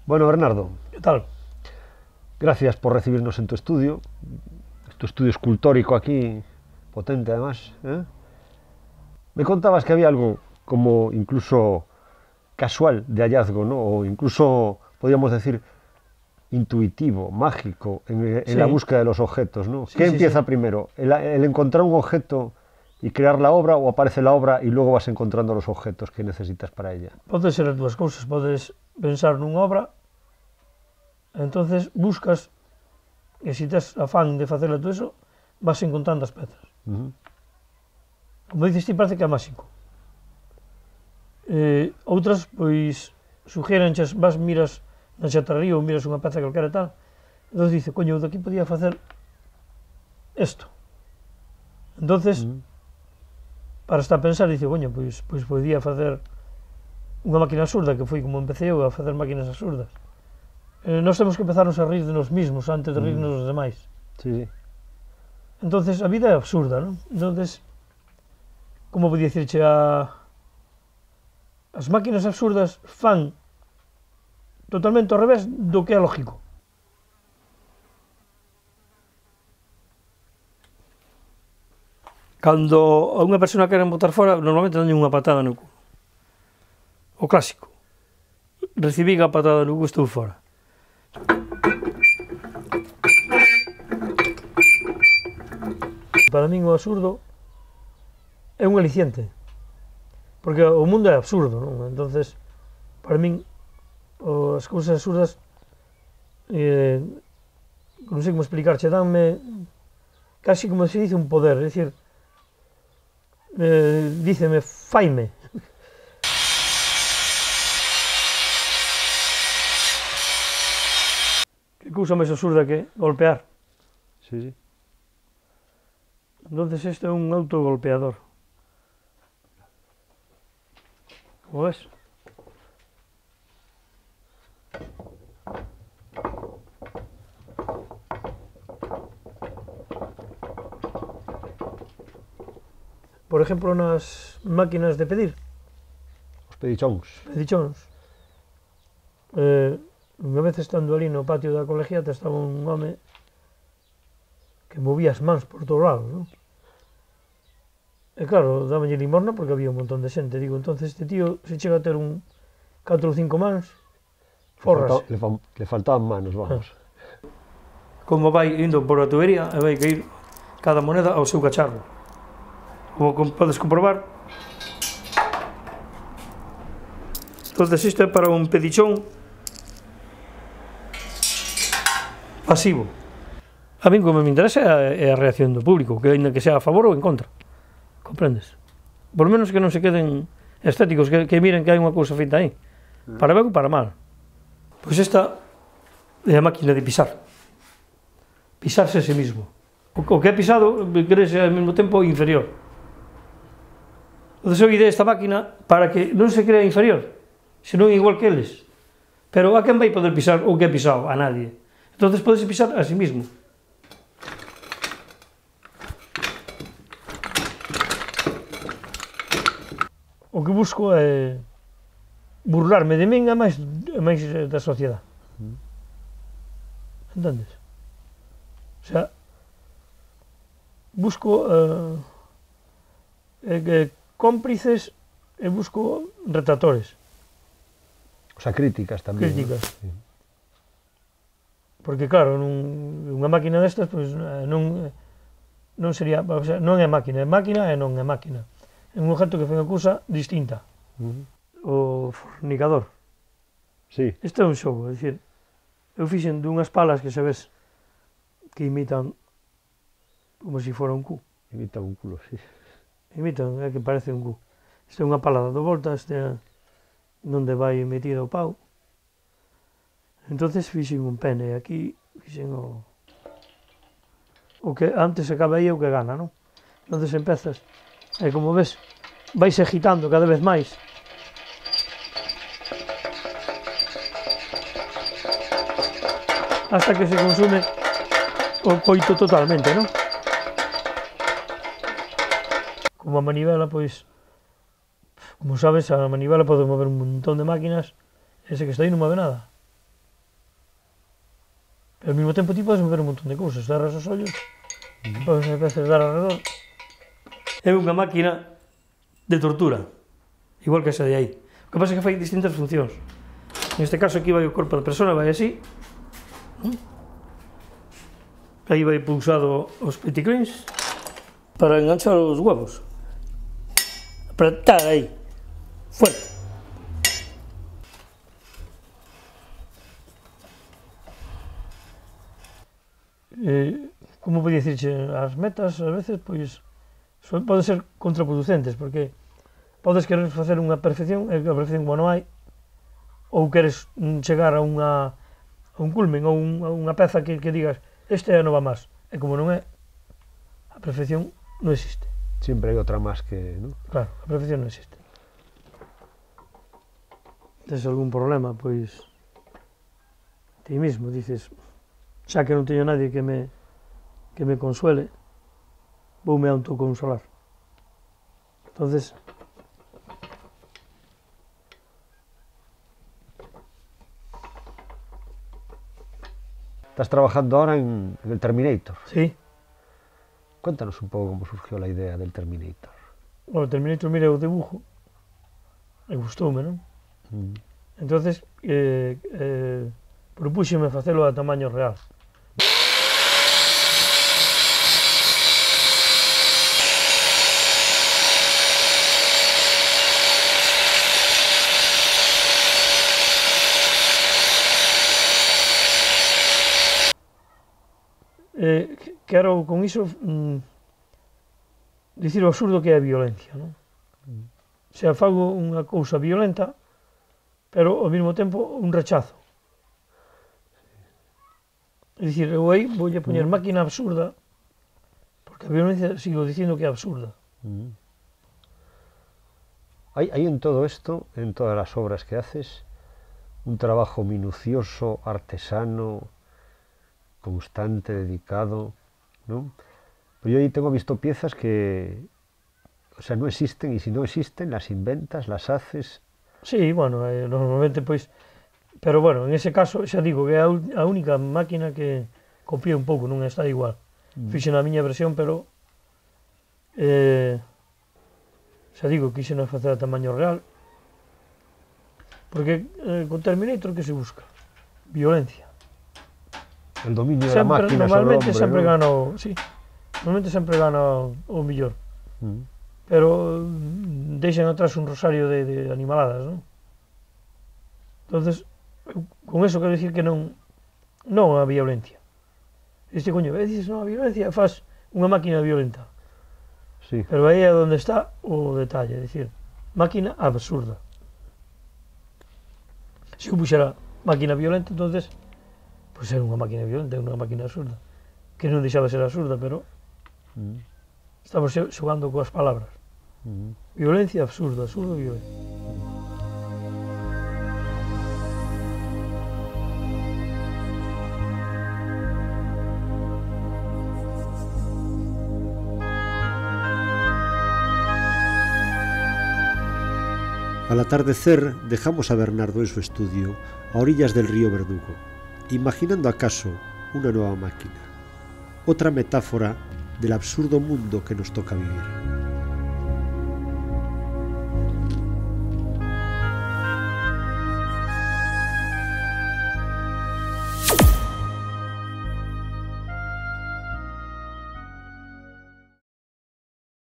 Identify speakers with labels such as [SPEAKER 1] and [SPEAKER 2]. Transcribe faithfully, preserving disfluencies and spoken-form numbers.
[SPEAKER 1] Bueno, Bernardo,
[SPEAKER 2] ¿Qué tal?
[SPEAKER 1] gracias por recibirnos en tu estudio, tu estudio escultórico aquí, potente además, ¿eh? Me contabas que había algo como incluso casual de hallazgo, ¿no? O incluso, podríamos decir, intuitivo, mágico, en, en
[SPEAKER 2] Sí.
[SPEAKER 1] la búsqueda de los objetos, ¿no?
[SPEAKER 2] Sí,
[SPEAKER 1] ¿Qué
[SPEAKER 2] sí,
[SPEAKER 1] empieza
[SPEAKER 2] sí.
[SPEAKER 1] primero? ¿El, el encontrar un objeto y crear la obra, o aparece la obra y luego vas encontrando los objetos que necesitas para ella?
[SPEAKER 2] Pode ser as dúas cousas, podes pensar nunha obra, entonces buscas, e se tes afán de facela todo eso, vas encontrando as pezas.
[SPEAKER 1] Uh-huh.
[SPEAKER 2] Como dices ti, parece que é máxico. Eh, outras, pois, suxérenches, vas, miras na xatarría ou miras unha peza calquera e tal, entón dice, coño, eu daqui podía facer isto. Entonces,
[SPEAKER 1] Uh-huh.
[SPEAKER 2] para estar a pensar, dice, coño, pois, pois podía facer unha máquina absurda, que foi como empecé eu a facer máquinas absurdas. Eh, nós temos que empezarnos a rir de nos mismos antes de rirnos dos demais.
[SPEAKER 1] Sí, sí.
[SPEAKER 2] Entonces, a vida é absurda, non? Entonces, como podía dicirche, a... as máquinas absurdas fan totalmente ao revés do que é lógico. Cando a unha persona queren botar fora, normalmente danlle unha patada no cu. O clásico. Recibí a patada no cu, estou fora. Para min o absurdo é un aliciente, porque o mundo é absurdo, non? Entonces, para min, as cousas absurdas, eh, non sei como explicarche, danme casi como se dice un poder, é dicir, eh, díceme, faime. Que cousa máis absurda que golpear.
[SPEAKER 1] Sí, sí.
[SPEAKER 2] Entonces este é un autogolpeador. Como ves? Por exemplo, nas máquinas de pedir,
[SPEAKER 1] Os pedichóns.
[SPEAKER 2] pedichóns, eh, unha vez estando ali no patio da colegiata estaba un home que movía as mans por todos lados, non? E claro, dábanlle limosna porque había un montón de xente. Digo, entonces este tío se chega a ter un catro ou cinco mans, forras.
[SPEAKER 1] Le, falta, le, le faltaban manos, vamos.
[SPEAKER 2] Como vai indo por a tubería e vai cair cada moneda ao seu cacharro. Como podes comprobar, entonces isto é para un pedichón pasivo. A min como me interesa é a reacción do público, que ainda que sea a favor ou en contra. Comprendes? Por menos que non se queden estéticos, que, que miren que hai unha cousa feita aí. Para ben ou para mal. Pois esta é a máquina de pisar. Pisarse a sí mismo. O, o que é pisado, crese ao mesmo tempo inferior. Entón, eu ideei esta máquina para que non se crea inferior, senón igual que eles. Pero a quen vai poder pisar o que é pisado? A nadie. Entón, podes pisar a sí mismo. O que busco é burlarme de min e máis, e máis da sociedade. Entendes? O sea, busco uh, eh, cómplices e busco retractores.
[SPEAKER 1] O sea, críticas tamén.
[SPEAKER 2] Críticas.
[SPEAKER 1] ¿No? Sí.
[SPEAKER 2] Porque claro, nun, unha máquina destas, pois, non, non sería, o sea, non é máquina, é máquina e non é máquina. É un objeto que foi unha cousa distinta.
[SPEAKER 1] Uh-huh.
[SPEAKER 2] O fornicador.
[SPEAKER 1] Sí.
[SPEAKER 2] Isto é un xogo, é dicir, eu fixen dunhas palas que se ves que imitan como se fora un cu.
[SPEAKER 1] Imita un culo, sí.
[SPEAKER 2] Imitan, é que parece un cu. Isto é unha pala dado volta, este é onde vai metido o pau. Entonces fixen un pene, aquí fixen o o que antes acaba aí o que gana, non? Entonces empezas, e como ves, vais agitando cada vez máis. Hasta que se consume o coito totalmente, non? Como a manivela, pois, como sabes, a manivela pode mover un montón de máquinas, ese que está aí non move nada. Pero ao mesmo tempo ti podes mover un montón de cousas, cerras os ollos, podes a veces dar alrededor. É unha máquina de tortura, igual que esa de aí. O que pasa é que fai distintas funcións. Neste caso aquí vai o corpo da persona, vai así. Aí vai pulsado os peticlins para enganchar os huevos. Apretar aí, fuerte. Eh, como podía dicirche, as metas a veces pois poden ser contraproducentes, porque podes querer facer unha perfección e a perfección como non hai, ou queres chegar a unha a un culmen ou un, a unha peza que, que digas este non va máis, e como non é, a perfección non existe.
[SPEAKER 1] Sempre hai outra máis que, non?
[SPEAKER 2] Claro, a perfección non existe. Tes algún problema, pois ti mismo dices, xa que non teño nadie que me que me consuele, voume autoconsolar. Entonces,
[SPEAKER 1] estás trabajando ahora en, en el Terminator.
[SPEAKER 2] Sí.
[SPEAKER 1] Cuéntanos un pouco como surgiu a idea del Terminator.
[SPEAKER 2] O Terminator, mira o dibujo, e gustoume, non?
[SPEAKER 1] Mm.
[SPEAKER 2] Entonces, eh, eh, propúxeme facelo a tamaño real. Eh, quero con iso mm, dicir o absurdo que é a violencia, non? Mm. Se fago unha cousa violenta, pero ao mesmo tempo un rechazo. É dicir, eu aí vou a poñer máquina absurda, porque a violencia sigo dicindo que é absurda.
[SPEAKER 1] Mm. Hay, hay en todo esto, en todas las obras que haces, un trabajo minucioso, artesano, constante, dedicado, ¿no? Pero yo ahí tengo visto piezas que, o sea, no existen, y si no existen, las inventas, las haces.
[SPEAKER 2] Sí, bueno, eh, normalmente, pois, pero bueno, en ese caso, xa digo, que é a, a única máquina que copié un pouco, non está igual. Mm. Fixe na miña versión, pero, eh, xa digo, quixen facer a tamaño real, porque eh, con Terminator que se busca? Violencia.
[SPEAKER 1] El dominio
[SPEAKER 2] sempre,
[SPEAKER 1] de la máquina
[SPEAKER 2] normalmente
[SPEAKER 1] sobre o hombre,
[SPEAKER 2] sempre
[SPEAKER 1] ¿no?
[SPEAKER 2] gana o, sí, normalmente sempre gana o millor.
[SPEAKER 1] Mm.
[SPEAKER 2] Pero deixan atrás un rosario de, de animaladas, non? Entonces, con eso quero dicir que non non a violencia. Este coño, e dices, non a violencia, faz unha máquina violenta.
[SPEAKER 1] Sí.
[SPEAKER 2] Pero aí é onde está o detalle, é dicir, máquina absurda. Se eu puxera máquina violenta, entonces pois era unha máquina violenta, unha máquina absurda, que non deixaba de ser absurda, pero mm. estamos xogando coas palabras. Mm. Violencia absurda, absurdo violenta.
[SPEAKER 1] Al atardecer dejamos a Bernardo en su estudio, a orillas del río Verdugo, imaginando acaso una nueva máquina, otra metáfora del absurdo mundo que nos toca vivir.